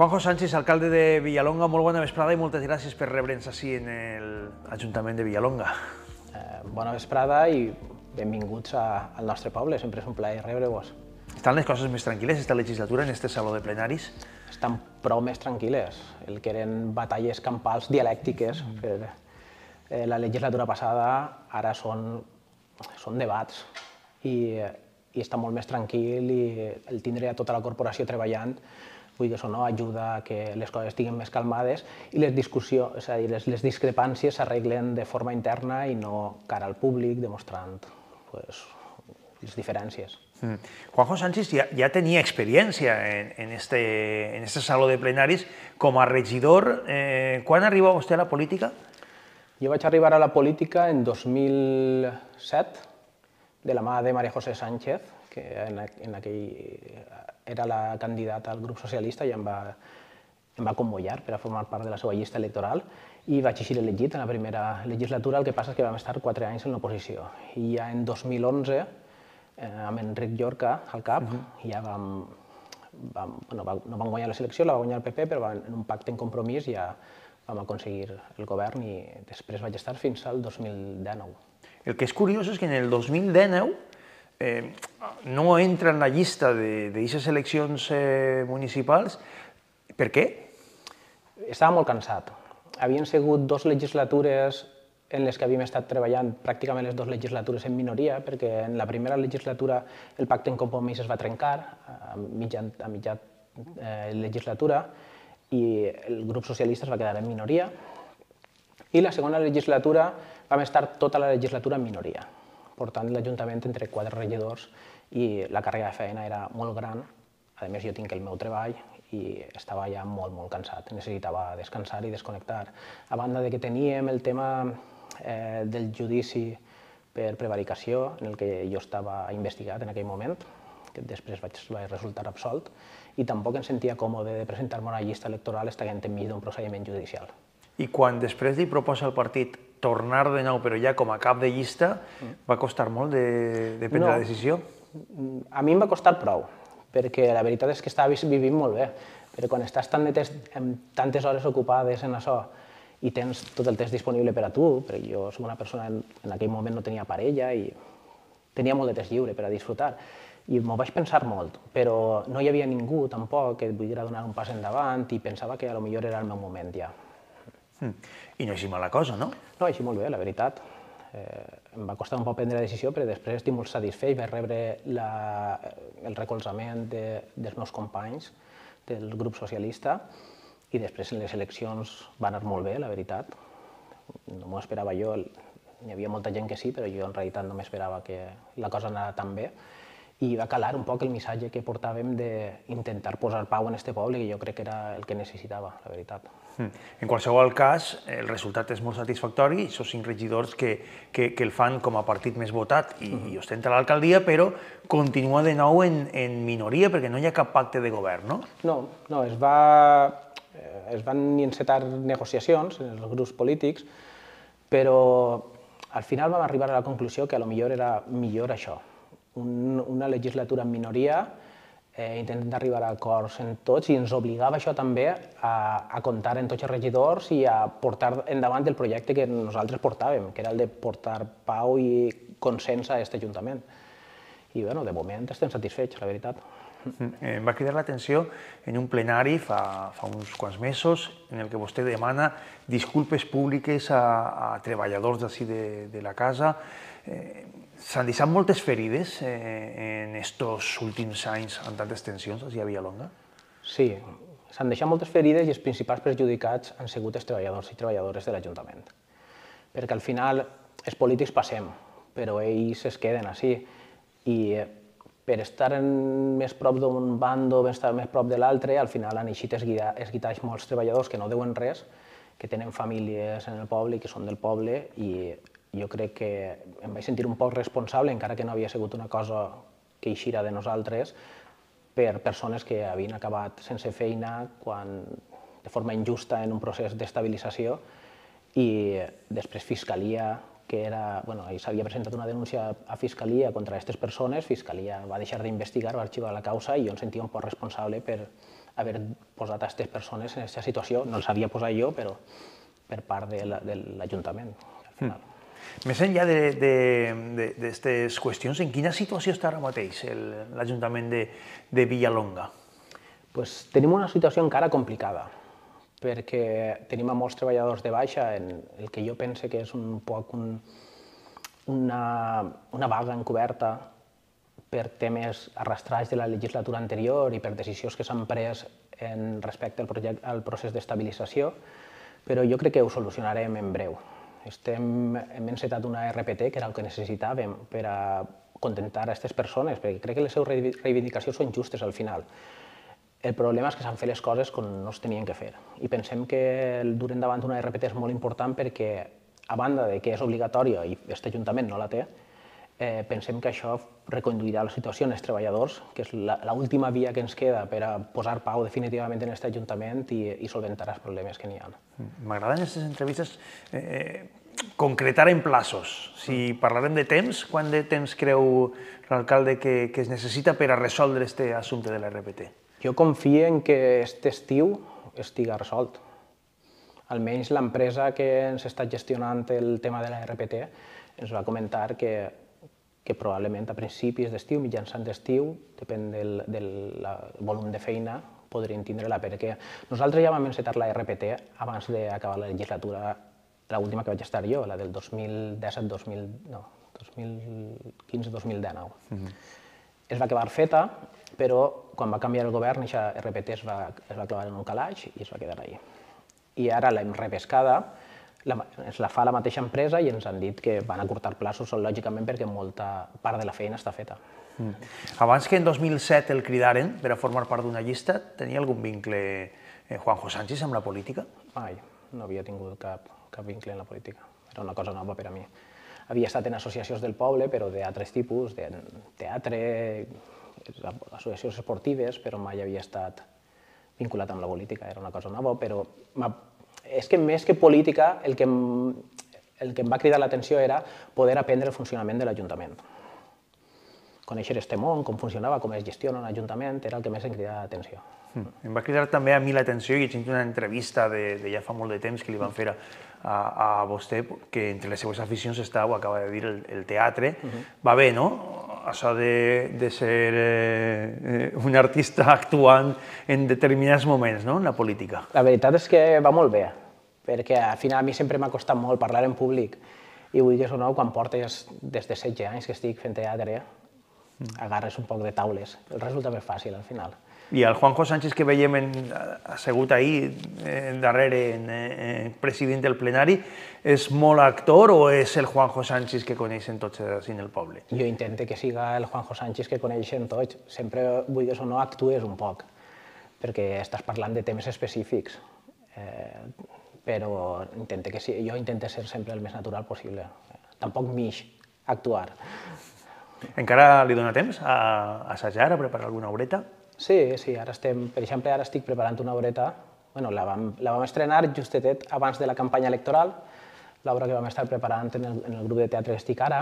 Juanjo Sánchez, alcalde de Villalonga, molt bona vesprada i moltes gràcies per rebre'ns així en l'Ajuntament de Villalonga. Bona vesprada i benvinguts al nostre poble, sempre és un plaer rebre-vos. Estan les coses més tranquil·les esta legislatura en este saló de plenaris? Estan prou més tranquil·les. El que eren batalles campals dialèctiques per la legislatura passada ara són debats i està molt més tranquil i el tindre tota la corporació treballant això ajuda a que les coses estiguin més calmades i les discussions, és a dir, les discrepàncies s'arreglen de forma interna i no cara al públic, demostrant les diferències. Juanjo Sánchez ja tenia experiència en este saló de plenaris com a regidor. Quan arriba vostè a la política? Jo vaig arribar a la política en 2007, de la mà de María José Sánchez, que en aquell era la candidata al grup socialista i em va convocar per a formar part de la seva llista electoral i vaig eixir elegit en la primera legislatura, el que passa és que vam estar 4 anys en l'oposició. I ja en 2011, amb Enric Llorca al cap, ja no vam guanyar la selecció, la va guanyar el PP, però en un pacte en compromís ja vam aconseguir el govern i després vaig estar fins al 2019. El que és curiós és que en el 2019 no entra en la llista d'aquestes eleccions municipals. Per què? Estava molt cansat. Havien sigut 2 legislatures en les que havíem estat treballant pràcticament les 2 legislatures en minoria, perquè en la primera legislatura el pacte en compromís es va trencar a mitja legislatura i el grup socialista es va quedar en minoria. I la segona legislatura vam estar tota la legislatura en minoria, portant l'Ajuntament entre 4 regidors i la càrrega de feina era molt gran. A més, jo tinc el meu treball i estava ja molt, molt cansat. Necessitava descansar i desconnectar. A banda de que teníem el tema del judici per prevaricació, en el que jo estava investigat en aquell moment, que després vaig resultar absolt, i tampoc em sentia còmode de presentar-me a una llista electoral estant enmig d'un procediment judicial. I quan després li proposa al partit tornar de nou, però ja com a cap de llista, va costar molt de prendre la decisió? A mi em va costar prou, perquè la veritat és que estava vivint molt bé, però quan estàs amb tantes hores ocupades en això i tens tot el temps disponible per a tu, perquè jo soc una persona en aquell moment no tenia parella i tenia molt de temps lliure per a disfrutar, i m'ho vaig pensar molt, però no hi havia ningú tampoc que et volguera donar un pas endavant i pensava que potser era el meu moment ja. I no així mala cosa, no? No, així molt bé, la veritat. Em va costar un poc prendre la decisió, però després estic molt satisfet. Vaig rebre el recolzament dels meus companys del grup socialista i després en les eleccions va anar molt bé, la veritat. No m'ho esperava jo, hi havia molta gent que sí, però jo en realitat no m'esperava que la cosa anara tan bé. I va calar un poc el missatge que portàvem d'intentar posar pau en este poble, que jo crec que era el que necessitava, la veritat. En qualsevol cas, el resultat és molt satisfactori, són 5 regidors que el fan com a partit més votat i ostenta l'alcaldia, però continua de nou en minoria perquè no hi ha cap pacte de govern, no? No, es van encetar negociacions en els grups polítics, però al final vam arribar a la conclusió que potser era millor això, una legislatura en minoria, intentant arribar a acords en tots i ens obligava això també a comptar en tots els regidors i a portar endavant el projecte que nosaltres portàvem, que era el de portar pau i consens a aquest Ajuntament. I de moment estem satisfets, la veritat. Em va cridar l'atenció en un plenari fa uns quants mesos en el que vostè demana disculpes públiques a treballadors d'ací de la casa. S'han deixat moltes ferides en aquests últims anys amb tantes tensions a Villalonga? Sí, s'han deixat moltes ferides i els principals perjudicats han sigut els treballadors i treballadores de l'Ajuntament. Perquè al final els polítics passem, però ells es queden així. I per estar més prop d'un bando, per estar més prop de l'altre, al final han eixit esguitats molts treballadors que no deuen res, que tenen famílies en el poble i que són del poble, i jo crec que em vaig sentir un poc responsable, encara que no havia sigut una cosa que eixira de nosaltres, per persones que havien acabat sense feina de forma injusta en un procés d'estabilització i després Fiscalia, que s'havia presentat una denúncia a Fiscalia contra aquestes persones, Fiscalia va deixar d'investigar, va arxivar la causa i jo em sentia un poc responsable per haver posat aquestes persones en aquesta situació. No els havia posat jo, però per part de l'Ajuntament. Més enllà d'aquestes qüestions, en quina situació està ara mateix l'Ajuntament de Villalonga? Tenim una situació encara complicada, perquè tenim a molts treballadors de baixa en el que jo penso que és un poc una vaga encoberta per temes arrastrats de la legislatura anterior i per decisions que s'han pres respecte al procés d'estabilització, però jo crec que ho solucionarem en breu. Hem encetat una RPT, que era el que necessitàvem per a contentar a aquestes persones, perquè crec que les seves reivindicacions són justes al final. El problema és que s'han fet les coses com no es tenien que fer. I pensem que dur endavant una RPT és molt important perquè, a banda de que és obligatòria i aquest Ajuntament no la té, pensem que això reconduirà la situació en els treballadors, que és l'última via que ens queda per a posar pau definitivament en aquest Ajuntament i solventar els problemes que n'hi ha. M'agraden aquestes entrevistes concretar en plaços. Si parlarem de temps, quant de temps creu l'alcalde que es necessita per a resoldre aquest assumpte de la RPT? Jo confio en que aquest estiu estigui resolt. Almenys l'empresa que ens està gestionant el tema de la RPT ens va comentar que probablement a principis d'estiu, mitjançant d'estiu, depèn del volum de feina, podrien tindre-la, perquè nosaltres ja vam encetar la RPT abans d'acabar la legislatura, l'última que vaig estar jo, la del 2015-2019. Es va acabar feta, però quan va canviar el govern, aquesta RPT es va clavar en un calaix i es va quedar allà. I ara l'hem repescada, ens la fa la mateixa empresa i ens han dit que van acurtar plaços, lògicament, perquè molta part de la feina està feta. Abans que en 2007 el cridaren per a formar part d'una llista, tenia algun vincle Juanjo Sánchez amb la política? Mai, no havia tingut cap vincle en la política. Era una cosa nova per a mi. Havia estat en associacions del poble, però d'altres tipus, de teatre, associacions esportives, però mai havia estat vinculat amb la política. Era una cosa nova, però és que més que política, el que em va cridar l'atenció era poder aprendre el funcionament de l'Ajuntament. Conèixer este món, com funcionava, com es gestiona un ajuntament, era el que més em cridava l'atenció. Em va cridar també a mi l'atenció, i he llegit una entrevista de ja fa molt de temps que li van fer a vostè, que entre les seues aficions està, ho acaba de dir, el teatre. Va bé, no? Això de ser un artista actuant en determinats moments, no?, en la política. La veritat és que va molt bé, perquè al final a mi sempre m'ha costat molt parlar en públic i vull que no, quan portes des de 16 anys que estic fent teatre, agarres un poc de taules. Resulta més fàcil al final. I el Juanjo Sánchez que veiem assegut ahir darrere president del plenari, és molt actor o és el Juanjo Sánchez que coneixen tots en el poble? Jo intento que siga el Juanjo Sánchez que coneixen tots. Sempre vull que no actues un poc, perquè estàs parlant de temes específics. Però jo intento ser sempre el més natural possible. Tampoc m'ix actuar. Encara li dona temps a assajar, a preparar alguna obreta? Sí, ara estem, per exemple, ara estic preparant una obreta, la vam estrenar justet abans de la campanya electoral, l'obra que vam estar preparant en el grup de teatre que estic ara,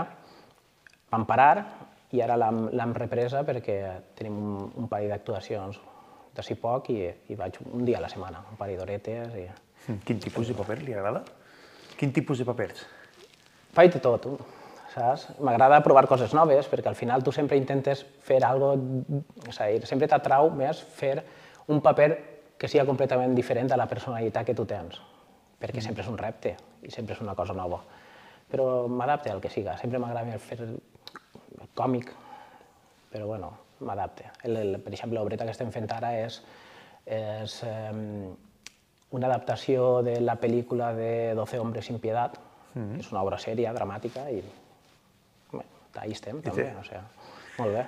vam parar i ara l'hem represa perquè tenim un parell d'actuacions d'ací poc i vaig un dia a la setmana, un parell d'horetes. Quin tipus de paper li agrada? Quin tipus de papers? Faig de tot, saps? M'agrada provar coses noves, perquè al final tu sempre intentes fer alguna cosa, sempre t'atrau més fer un paper que sigui completament diferent a la personalitat que tu tens, perquè sempre és un repte i sempre és una cosa nova. Però m'adapte al que siga, sempre m'agrada més fer còmic, però bueno, m'adapte. Per exemple, l'obreta que estem fent ara és una adaptació de la pel·lícula de 12 hombres sin piedad, que és una obra sèria, dramàtica, i ahí estem, també, molt bé.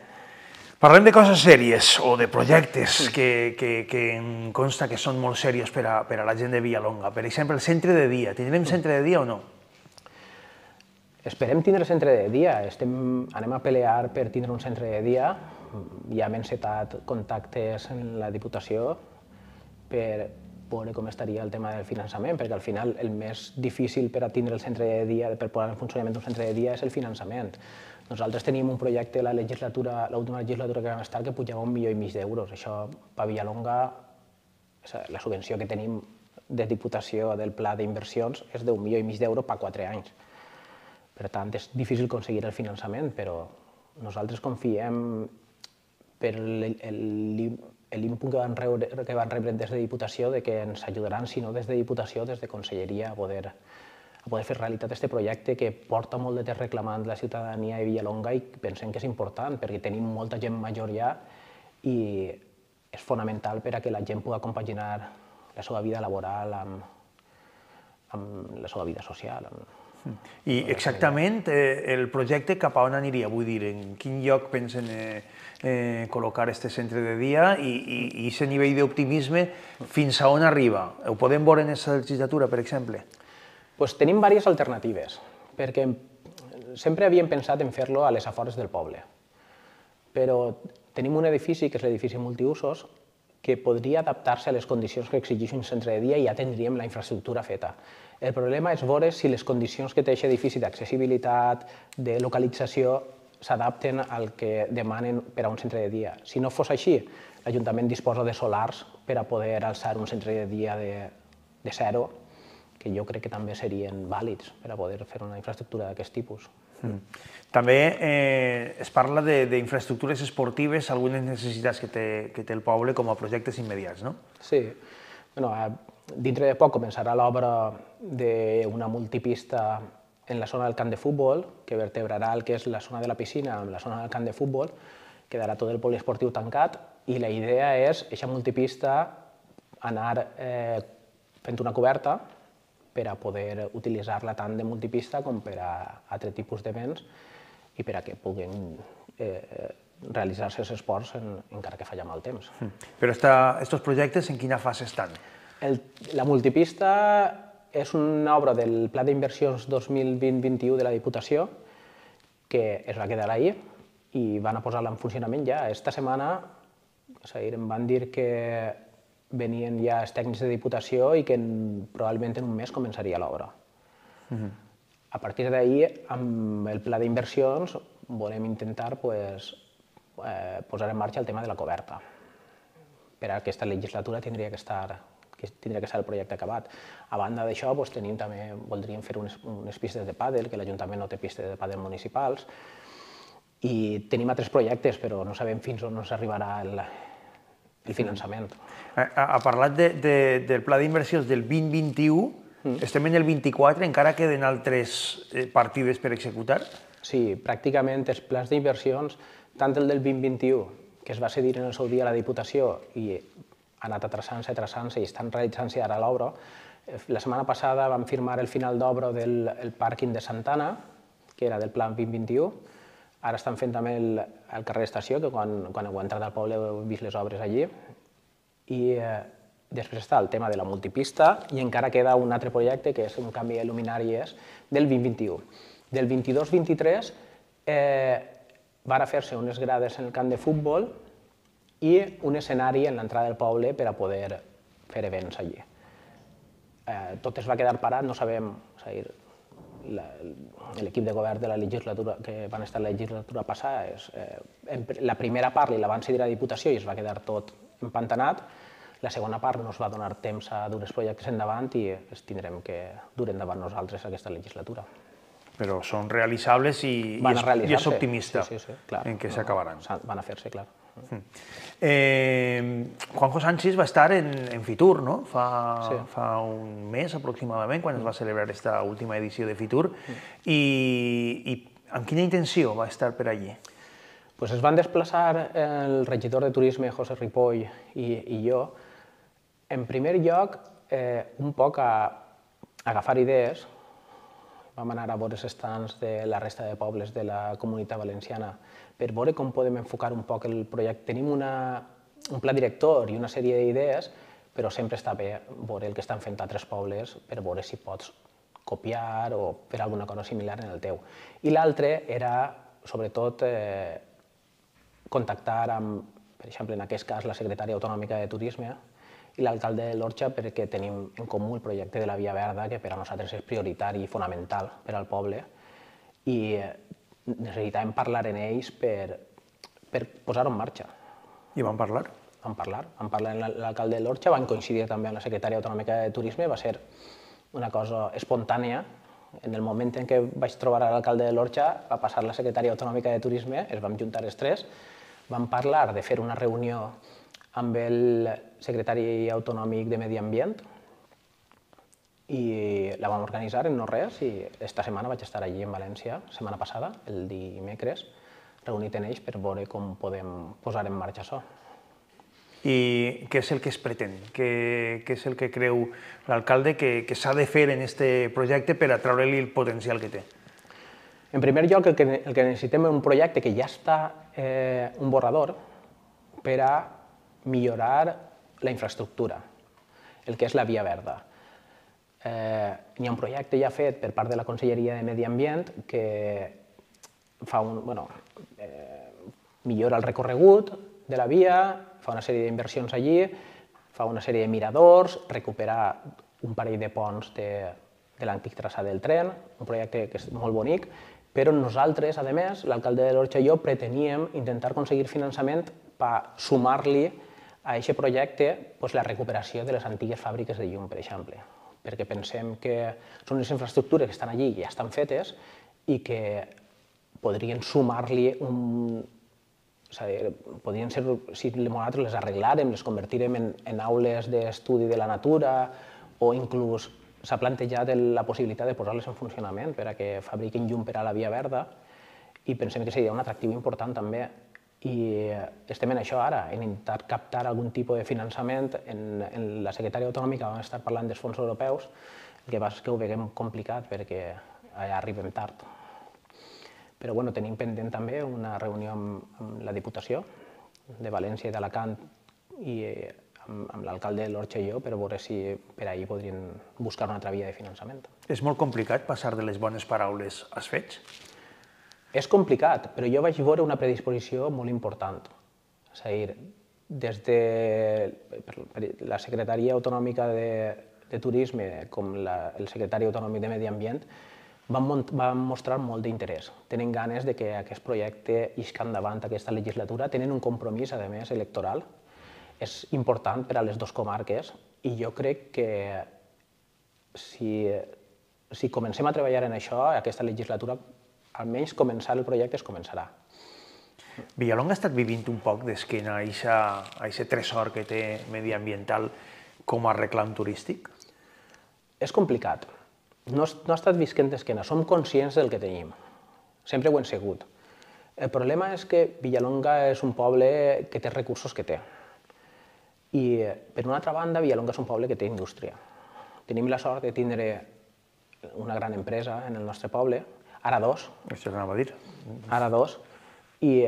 Parlem de coses sèries o de projectes que em consta que són molt serios per a la gent de Villalonga. Per exemple, el centre de dia. Tindrem centre de dia o no? Esperem tindre centre de dia. Anem a pelear per tindre un centre de dia. Ja hem encetat contactes en la Diputació per veure com estaria el tema del finançament, perquè al final el més difícil per a tindre el centre de dia, per posar en funcionament un centre de dia, és el finançament. Nosaltres teníem un projecte l'última legislatura que vam estar que pujava 1,5 milió d'euros. Això per Villalonga La subvenció que tenim de Diputació del Pla d'Inversions és d'1,5 milió d'euros per 4 anys. Per tant, és difícil aconseguir el finançament, però nosaltres confiem per l'input que van rebre des de Diputació que ens ajudaran, si no des de Diputació, des de Conselleria, a poder fer realitat aquest projecte que porta molt de temps reclamant la ciutadania de Villalonga i pensem que és important perquè tenim molta gent major ja i és fonamental per a que la gent pugui compaginar la seva vida laboral amb la seva vida social. I exactament el projecte cap a on aniria? Vull dir, en quin lloc pensen col·locar aquest centre de dia i aquest nivell d'optimisme fins a on arriba? Ho podem veure en aquesta legislatura, per exemple? Tenim diverses alternatives, perquè sempre havíem pensat en fer-lo a les afores del poble, però tenim un edifici, que és l'edifici multiusos, que podria adaptar-se a les condicions que exigeix un centre de dia i ja tindríem la infraestructura feta. El problema és veure si les condicions que té aquest edifici d'accessibilitat, de localització, s'adapten al que demanen per a un centre de dia. Si no fos així, l'Ajuntament disposa de solars per a poder alçar un centre de dia de zero, que jo crec que també serien vàlids per a poder fer una infraestructura d'aquest tipus. També es parla d'infraestructures esportives, algunes necessitats que té el poble com a projectes immediats, no? Sí. Dintre de poc començarà l'obra d'una multipista en la zona del camp de futbol, que vertebrarà el que és la zona de la piscina amb la zona del camp de futbol, quedarà tot el poliesportiu tancat i la idea és, aquesta multipista, anar fent una coberta per a poder utilitzar-la tant de multipista com per a altre tipus d'events i per a que puguin realitzar-se els esports encara que falla mal temps. Però aquests projectes en quina fase estan? La multipista és una obra del Pla d'Inversions 2020-21 de la Diputació que es va quedar ahir i van a posar-la en funcionament ja. Esta setmana em van dir que venien ja els tècnics de Diputació i que probablement en un mes començaria l'obra. A partir d'ahir, amb el pla d'inversions, volem intentar posar en marxa el tema de la coberta. Per a aquesta legislatura tindria que estar el projecte acabat. A banda d'això, també voldríem fer unes pistes de pàdel, que l'Ajuntament no té pistes de pàdel municipals, i tenim altres projectes, però no sabem fins on ens arribarà el finançament. Ha parlat del pla d'inversions del 2021, estem en el 24, encara queden altres partides per executar? Sí, pràcticament els plans d'inversions, tant el del 2021, que es va cedir en el seu dia a la Diputació i ha anat atrasant-se i estan realitzant-se ara l'obra. La setmana passada vam firmar el final d'obra del pàrquing de Santana, que era del pla 2021. Ara estan fent també el carrer Estació, que quan heu entrat al poble heu vist les obres allí. I després està el tema de la multipista i encara queda un altre projecte, que és un canvi de luminàries del 2021. Del 22-23 van fer-se unes grades en el camp de futbol i un escenari en l'entrada del poble per a poder fer events allí. Tot es va quedar parat, no sabem, l'equip de govern de la legislatura que van estar la legislatura passada, la primera part la van cedir a la Diputació i es va quedar tot empantanat, la segona part no es va donar temps a dur els projectes endavant i els tindrem que dur endavant nosaltres aquesta legislatura. Però són realitzables i és optimista en què s'acabaran. Van a fer-se, clar. Juanjo Sánchez va estar en Fitur, no? Fa un mes aproximadament, quan es va celebrar aquesta última edició de Fitur. I amb quina intenció va estar per allí? Es van desplaçar el regidor de Turisme, José Ripoll, i jo, en primer lloc, un poc a agafar idees. Vam anar a veure els estants de la resta de pobles de la Comunitat Valenciana per veure com podem enfocar un poc el projecte. Tenim un pla director i una sèrie d'idees, però sempre està bé veure el que estan fent altres pobles per veure si pots copiar o fer alguna cosa similar en el teu. I l'altre era, sobretot, contactar amb, per exemple, en aquest cas, la secretària autonòmica de Turisme i l'alcalde de l'Orxa perquè tenim en comú el projecte de la Via Verda, que per a nosaltres és prioritari i fonamental per al poble, i necessitàvem parlar amb ells per posar-ho en marxa. I van parlar? vam parlar amb l'alcalde de l'Orxa, van coincidir també amb la secretària autonòmica de Turisme, va ser una cosa espontània. En el moment en què vaig trobar l'alcalde de l'Orxa, va passar la secretària autonòmica de Turisme, es vam juntar els tres, vam parlar de fer una reunió amb el secretari autonòmic de Medi Ambient i la vam organitzar en no res i esta setmana vaig estar allí en València, setmana passada, el dimecres, reunit en ells per veure com podem posar en marxa això. I què és el que es pretén? Què és el que creu l'alcalde que s'ha de fer en aquest projecte per atraure-li el potencial que té? En primer lloc, el que necessitem és un projecte que ja està un borrador per a millorar la infraestructura, el que és la via verda. Hi ha un projecte ja fet per part de la Conselleria de Medi Ambient que millora el recorregut de la via, fa una sèrie d'inversions allí, fa una sèrie de miradors, recupera un parell de ponts de l'antic traçat del tren, un projecte que és molt bonic, però nosaltres, a més, l'alcalde de l'Orxa i jo, preteníem intentar aconseguir finançament per sumar-li a aquest projecte la recuperació de les antigues fàbriques de llum, per exemple, perquè pensem que són unes infraestructures que estan allí i ja estan fetes i que podrien sumar-li podrien ser, si nosaltres les arreglàrem, les convertirem en aules d'estudi de la natura o inclús s'ha plantejat la possibilitat de posar-les en funcionament per a que fabriquin llum per a la via verda i pensem que seria un atractiu important també. I estem en això ara, en intentar captar algun tipus de finançament. En la secretària autonòmica vam estar parlant dels fons europeus, el que passa és que ho veiem complicat perquè allà arribem tard. Però tenim pendent també una reunió amb la Diputació de València i d'Alacant i amb l'alcalde de l'Orxa i jo per veure si per ahir podrien buscar una altra via de finançament. És molt complicat passar de les bones paraules als fets? És complicat, però jo vaig veure una predisposició molt important. És a dir, des de la Secretaria Autonòmica de Turisme com el Secretari Autonòmic de Medi Ambient van mostrar molt d'interès. Tenen ganes que aquest projecte isca endavant aquesta legislatura, tenen un compromís, a més, electoral. És important per a les dues comarques i jo crec que si comencem a treballar en això, aquesta legislatura, almenys començar el projecte es començarà. Villalonga ha estat vivint un poc d'esquena a aquest tresor que té mediambiental com a reclam turístic? És complicat. No ha estat visquent d'esquena, som conscients del que tenim. Sempre ho hem sigut. El problema és que Villalonga és un poble que té recursos que té. I, per una altra banda, Villalonga és un poble que té indústria. Tenim la sort de tindre una gran empresa en el nostre poble, ara dos. Això anava a dir. Ara dos. I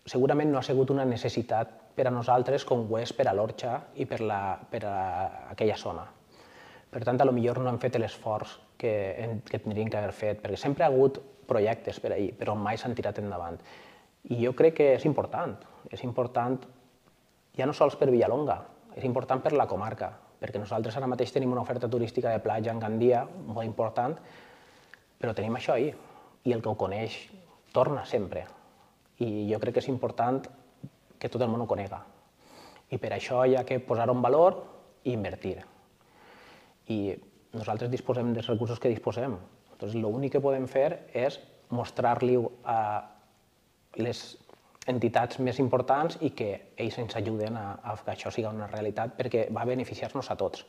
segurament no ha sigut una necessitat per a nosaltres com ho és per a l'Orxa i per a aquella zona. Per tant, potser no hem fet l'esforç que tindríem que haver fet, perquè sempre hi ha hagut projectes per ahir, però mai s'han tirat endavant. I jo crec que és important ja no sols per Villalonga, és important per la comarca, perquè nosaltres ara mateix tenim una oferta turística de platja en Gandia molt important, però tenim això ahir, i el que ho coneix torna sempre. I jo crec que és important que tot el món ho conega. I per això hi ha que posar-ho en valor i invertir. I nosaltres disposem dels recursos que disposem. L'únic que podem fer és mostrar-li a les entitats més importants i que ells ens ajuden a que això sigui una realitat perquè va beneficiar-nos a tots.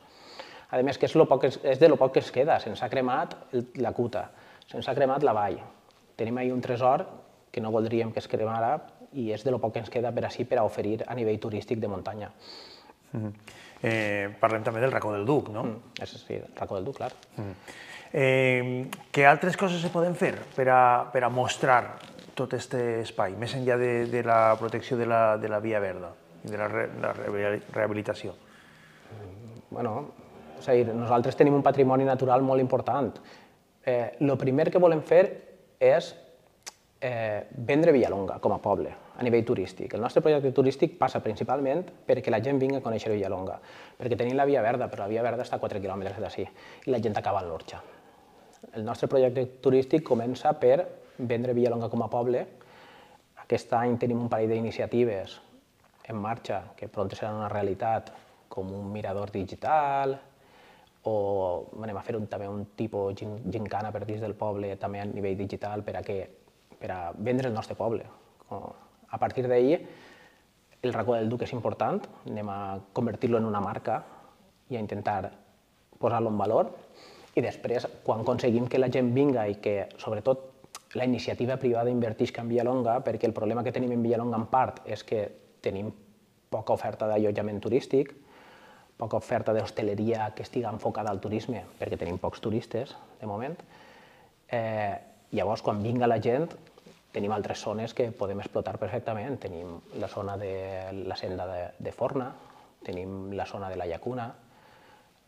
A més, que és de lo poc que es queda. Se'ns ha cremat la Cuta, se'ns ha cremat la vall. Tenim ahir un tresor que no voldríem que es cremara i és de lo poc que ens queda per així per a oferir a nivell turístic de muntanya. Parlem també del Racó del Duc, no? Sí, el Racó del Duc, clar. Què altres coses se poden fer per a mostrar tot aquest espai, més enllà de la protecció de la via verda i de la rehabilitació? És a dir, nosaltres tenim un patrimoni natural molt important. El primer que volem fer és vendre Villalonga com a poble, a nivell turístic. El nostre projecte turístic passa principalment perquè la gent vingui a conèixer Villalonga, perquè tenim la via verda, però la via verda està a 4 quilòmetres d'ací i la gent acaba a l'Orxa. El nostre projecte turístic comença per vendre Villalonga com a poble. Aquest any tenim un parell d'iniciatives en marxa, que pront seran una realitat, com un mirador digital, o anem a fer també un tipus gincana per dins del poble, també a nivell digital, per a vendre el nostre poble. A partir d'ahir, el racó del Duc és important, anem a convertir-lo en una marca i a intentar posar-lo en valor, i després, quan aconseguim que la gent vinga i que, sobretot, la iniciativa privada invertisca en Villalonga, perquè el problema que tenim en Villalonga en part és que tenim poca oferta d'allotjament turístic, poca oferta d'hostaleria que estigui enfocada al turisme, perquè tenim pocs turistes, de moment. Llavors, quan vinga la gent, tenim altres zones que podem explotar perfectament. Tenim la zona de la senda de Forna, tenim la zona de la Llacuna,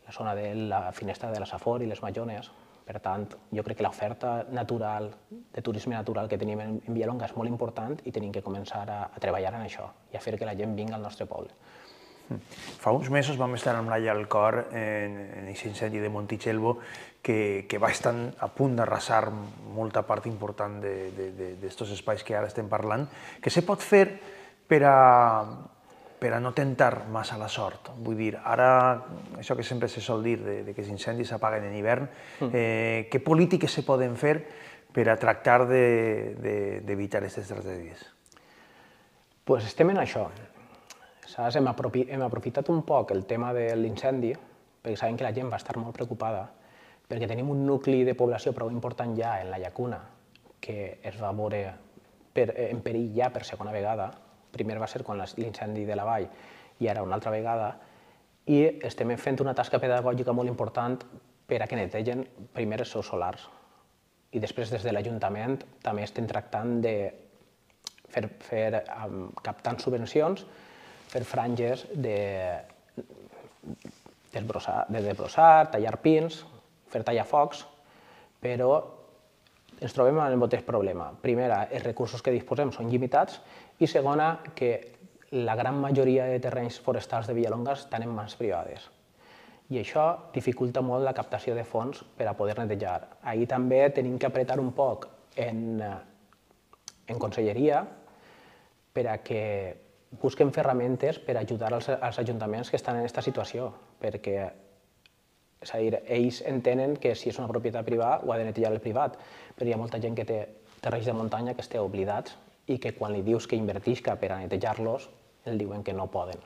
la zona de la finestra de la Safor i les Majones. Per tant, jo crec que l'oferta natural, de turisme natural que tenim en Villalonga és molt important i tenim que començar a treballar en això i a fer que la gent vingui al nostre poble. Fa uns mesos vam estar amb l'Aia al cor en aquest incendi de Montitxelvo que va estar a punt d'arrasar molta part important d'aquests espais que ara estem parlant. Què se pot fer per a no tentar massa la sort? Vull dir, ara, això que sempre se sol dir, que els incendis s'apaguen en hivern, què polítiques se poden fer per a tractar d'evitar aquestes tragèdies? Doncs estem en això. Hem aprofitat un poc el tema de l'incendi, perquè sabem que la gent va estar molt preocupada, perquè tenim un nucli de població prou important ja en la Llacuna, que es va veure en perill ja per segona vegada. Primer va ser quan l'incendi de la vall i ara una altra vegada, i estem fent una tasca pedagògica molt important per a que netegen primer els seus solars. I després, des de l'Ajuntament, també estem tractant de captant subvencions, fer franges de desbrossar, tallar pins, fer tallafocs, però ens trobem amb el mateix problema. Primera, els recursos que disposem són limitats i segona, que la gran majoria de terrenys forestals de Villalonga estan en mans privades. I això dificulta molt la captació de fons per a poder netejar. Ahir també tenim que apretar un poc en conselleria per a que busquen ferramentes per ajudar als ajuntaments que estan en aquesta situació, perquè és a dir, ells entenen que si és una propietat privada ho ha de netejar el privat, però hi ha molta gent que té terrenys de muntanya que es té oblidats i que quan li dius que invertisca per a netejar-los, el diuen que no poden.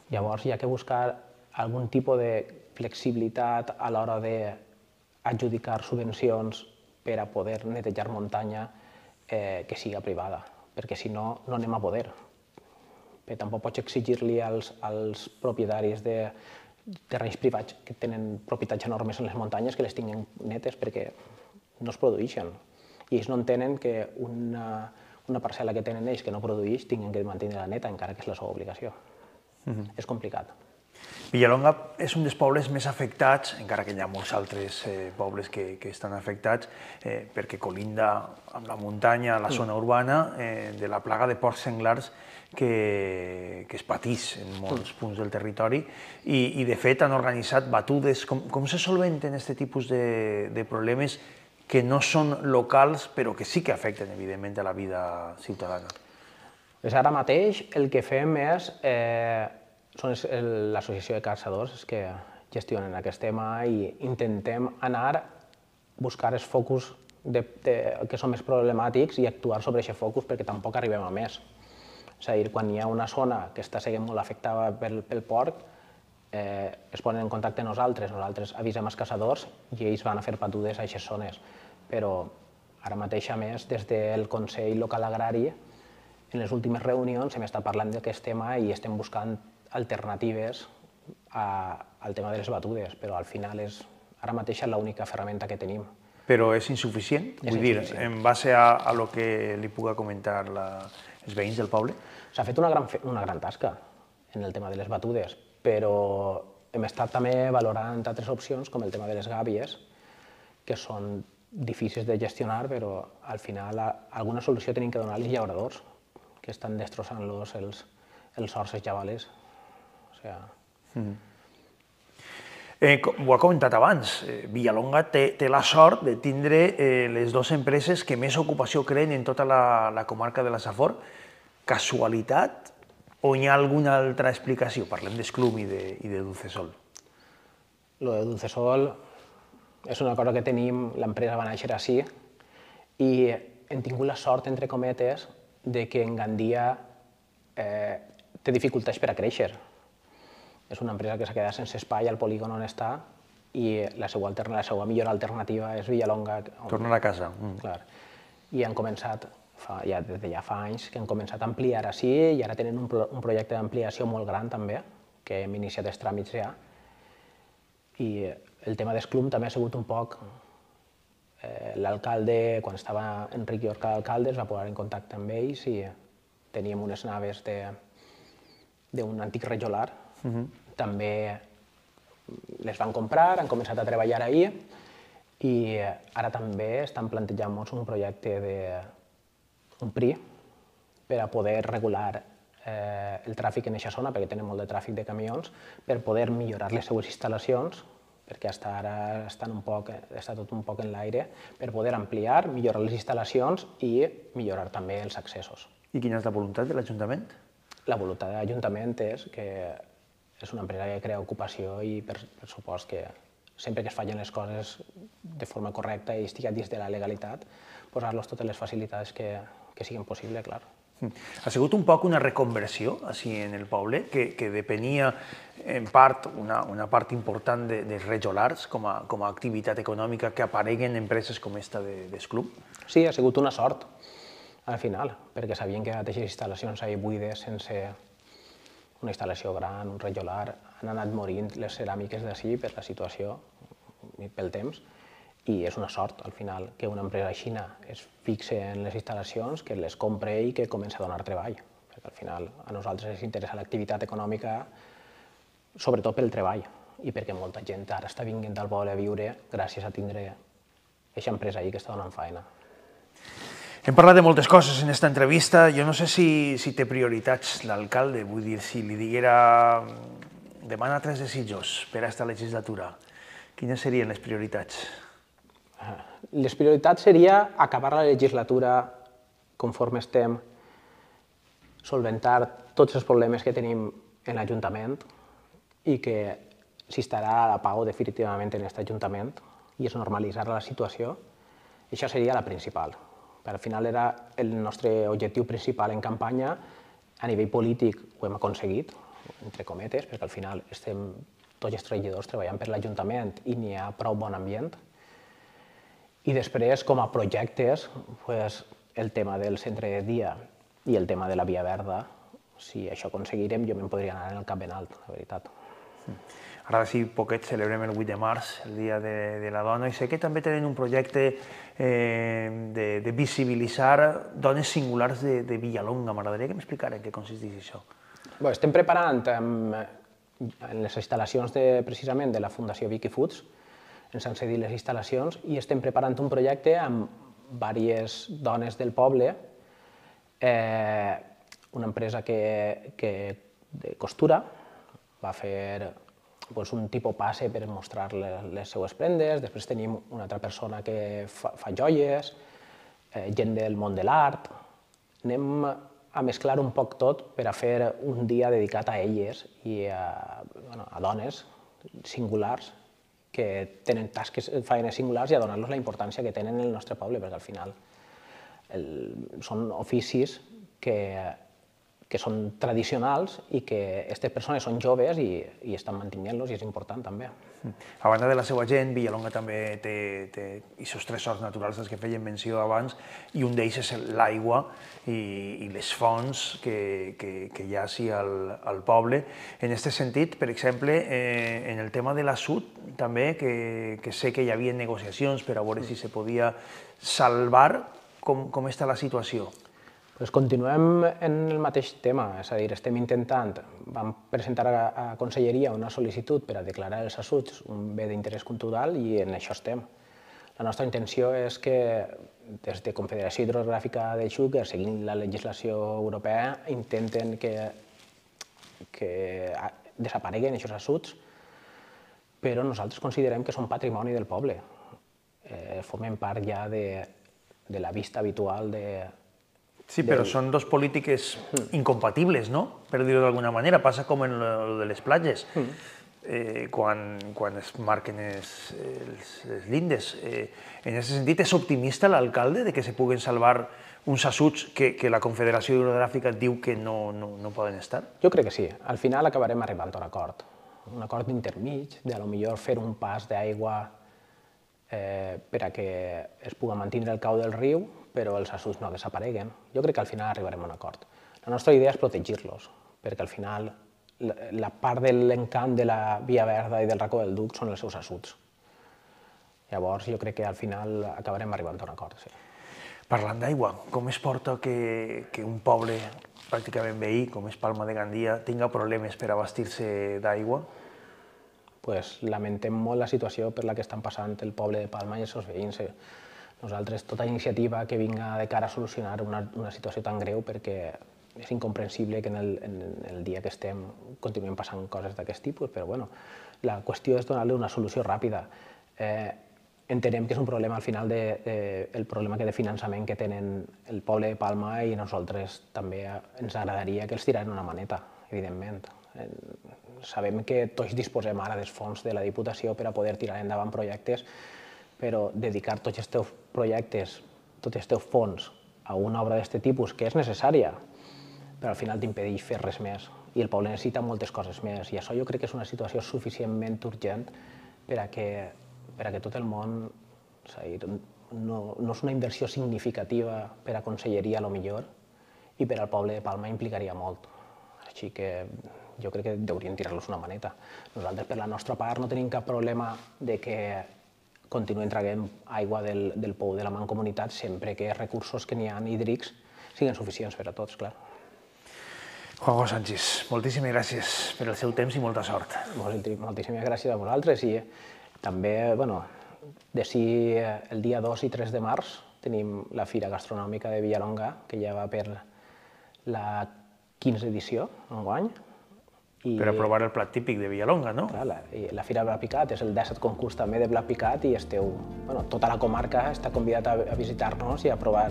Llavors hi ha que buscar algun tipus de flexibilitat a l'hora d'adjudicar subvencions per a poder netejar muntanya que siga privada, perquè si no, no anem a poder. Però tampoc pots exigir-li als propietaris de terrenys privats que tenen propietats enormes en les muntanyes que les tinguin netes perquè no es produeixen. I ells no entenen que una parcel·la que tenen ells que no produeix tinguin que mantenir-la neta, encara que és la seva obligació. És complicat. Villalonga és un dels pobles més afectats, encara que hi ha molts altres pobles que estan afectats, perquè colinda amb la muntanya, la zona urbana, de la plaga de porcs senglars que es patís en molts punts del territori i de fet han organitzat batudes. Com se solventen aquest tipus de problemes que no són locals però que sí que afecten evidentment a la vida ciutadana? Ara mateix el que fem són l'associació de caçadors que gestionen aquest tema i intentem anar a buscar els focus que són més problemàtics i actuar sobre aquest focus perquè tampoc arribem a més. És a dir, quan hi ha una zona que està sent molt afectada pel porc, es ponen en contacte amb nosaltres avisem els caçadors i ells van a fer batudes a aquestes zones. Però ara mateix, a més, des del Consell Local Agrari, en les últimes reunions hem estat parlant d'aquest tema i estem buscant alternatives al tema de les batudes, però al final ara mateix és l'única ferramenta que tenim. Però és insuficient? Vull dir, en base a lo que li puga comentar els veïns del poble? S'ha fet una gran tasca en el tema de les batudes, però hem estat també valorant altres opcions, com el tema de les gàbies, que són difícils de gestionar, però al final alguna solució tenim que donar als llauradors, que estan destrossant-los els horts, els javales. Ho ha comentat abans, Villalonga té la sort de tindre les dues empreses que més ocupació creen en tota la comarca de la Safor. Casualitat O hi ha alguna altra explicació? Parlem d'Esclum i de Dulcesol. Lo de Dulcesol és una cosa que tenim, l'empresa va néixer així i hem tingut la sort, entre cometes, de que en Gandia té dificultats per a créixer. És una empresa que s'ha quedat sense espai al polígon on està i la seva millor alternativa és Villalonga. Tornar a casa. Clar. I han començat, des de ja fa anys, que han començat a ampliar així i ara tenen un projecte d'ampliació molt gran també, que hem iniciat els tràmits ja. I el tema d'Esclum també ha sigut un poc... L'alcalde, quan estava Enric Llorca d'alcalde, es va posar en contacte amb ells i teníem unes naves d'un antic rajolar. També les van comprar, han començat a treballar ahir i ara també estan plantejant-nos un projecte d'un PRI per a poder regular el tràfic en aquesta zona, perquè tenen molt de tràfic de camions, per poder millorar les seues instal·lacions, perquè fins ara està tot un poc en l'aire, per poder ampliar, millorar les instal·lacions i millorar també els accessos. I quina és la voluntat de l'Ajuntament? La voluntat de l'Ajuntament és que és una empresa que crea ocupació i, per supost, que sempre que es facin les coses de forma correcta i estigui dins de la legalitat, posar-los totes les facilitats que siguin possibles, clar. Ha sigut un poc una reconversió així en el poble, que depenia en part, una part important dels rejolars com a activitat econòmica que apareguen empreses com esta d'Esclum? Sí, ha sigut una sort al final, perquè sabien que aquestes instal·lacions ahí buides, sense una instal·lació gran, un rejolar, han anat morint les ceràmiques d'ací per la situació i pel temps. I és una sort, al final, que una empresa xina es fixe en les instal·lacions, que les compre i que comença a donar treball. Perquè al final a nosaltres ens interessa l'activitat econòmica, sobretot pel treball, i perquè molta gent ara està vinguent al poble a viure gràcies a tindre aquesta empresa ahí que està donant feina. Hem parlat de moltes coses en aquesta entrevista. Jo no sé si té prioritats l'alcalde, vull dir, si li diguera demana 3 desitjos per a aquesta legislatura, quines serien les prioritats? Les prioritats seria acabar la legislatura conforme estem, solventar tots els problemes que tenim en l'Ajuntament i que s'instal·larà la pau definitivament en aquest Ajuntament i es normalitzarà la situació. Això seria la principal. Al final era el nostre objectiu principal en campanya. A nivell polític ho hem aconseguit, entre cometes, perquè al final estem tots els treballadors treballant per l'Ajuntament i n'hi ha prou bon ambient. I després, com a projectes, el tema del centre de dia i el tema de la Via Verda, si això aconseguirem, jo me'n podria anar en el cap ben alt, la veritat. Ara d'ací poquet celebrem el 8 de març, el Dia de la Dona, i sé que també tenen un projecte de visibilitzar dones singulars de Villalonga. M'agradaria que m'explicara en què consisteix això. Estem preparant en les instal·lacions precisament de la Fundació Vicky Foods, ens han cedit les instal·lacions i estem preparant un projecte amb diverses dones del poble, una empresa de costura va fer un tipus passe per mostrar les seues prendes, després tenim una altra persona que fa joies, gent del món de l'art. Anem a mesclar un poc tot per a fer un dia dedicat a elles i a dones singulars que tenen tasques, feines singulars i a donar-los la importància que tenen en el nostre poble, perquè al final són oficis que són tradicionals i que aquestes persones són joves i estan mantenint-los i és important també. A banda de la seva gent, Villalonga també té aquests tresors naturals dels que feien menció abans i un d'ells és l'aigua i les fonts que hi ha així al poble. En aquest sentit, per exemple, en el tema de l'assut també, que sé que hi havia negociacions per a veure si se podia salvar, com està la situació? Continuem en el mateix tema, és a dir, estem intentant, vam presentar a Conselleria una sol·licitud per a declarar els assuts un bé d'interès cultural i en això estem. La nostra intenció és que des de Confederació Hidrogràfica del Xúquer, seguint la legislació europea, intenten que desapareguen aquests assuts, però nosaltres considerem que són patrimoni del poble. Formen part ja de la vista habitual Sí, però són dos polítiques incompatibles, no? Per dir-ho d'alguna manera. Passa com en lo de les platges. Quan es marquen les lindes. En aquest sentit, és optimista l'alcalde de que se puguen salvar uns assuts que la Confederació Hidrogràfica diu que no poden estar? Jo crec que sí. Al final acabarem arribant a un acord. Un acord intermig, de potser fer un pas d'aigua per a que es pugui mantenir el cau del riu, però els assuts no desapareguen. Jo crec que al final arribarem a un acord. La nostra idea és protegir-los, perquè al final la part de l'encant de la Via Verda i del racó del Duc són els seus assuts. Llavors jo crec que al final acabarem arribant a un acord, sí. Parlant d'aigua, com es porta que un poble pràcticament veí, com és Palma de Gandia, tinga problemes per abastir-se d'aigua? Lamentem molt la situació per la que estan passant el poble de Palma i els seus veïns. Nosaltres, tota iniciativa que vinga de cara a solucionar una situació tan greu, perquè és incomprensible que en el dia que estem continuem passant coses d'aquest tipus, però bueno, la qüestió és donar-li una solució ràpida. Entenem que és un problema al final el problema de finançament que tenen el poble de Palma i nosaltres també ens agradaria que els tiraran una maneta, evidentment. Sabem que tots disposem ara dels fons de la Diputació per a poder tirar endavant projectes, però dedicar tots els teus projectes, tots els teus fons a una obra d'aquest tipus, que és necessària, però al final t'impedeix fer res més. I el poble necessita moltes coses més. I això jo crec que és una situació suficientment urgent per a que tot el món... No és una inversió significativa per a conselleria, potser, i per al poble de Palma implicaria molt. Així que jo crec que deurien tirar-los una maneta. Nosaltres, per la nostra part, no tenim cap problema de que continuem traguent aigua del pou de la Mancomunitat sempre que els recursos que n'hi ha hídrics siguin suficients per a tots, clar. Juanjo Sanchis, moltíssimes gràcies per el seu temps i molta sort. Moltíssimes gràcies a vosaltres i també, d'ací el dia 2 i 3 de març tenim la Fira Gastronòmica de Villalonga, que ja va per la 15ª edició enguany. Per a provar el plat típic de Villalonga, no? Clar, la Fira Blat Picat és el 17è concurs també de blat picat i tota la comarca està convidat a visitar-nos i a provar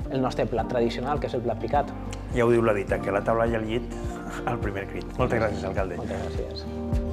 el nostre plat tradicional, que és el blat picat. Ja ho diu la dita, que la taula i el llit al primer crit. Moltes gràcies, alcalde. Moltes gràcies.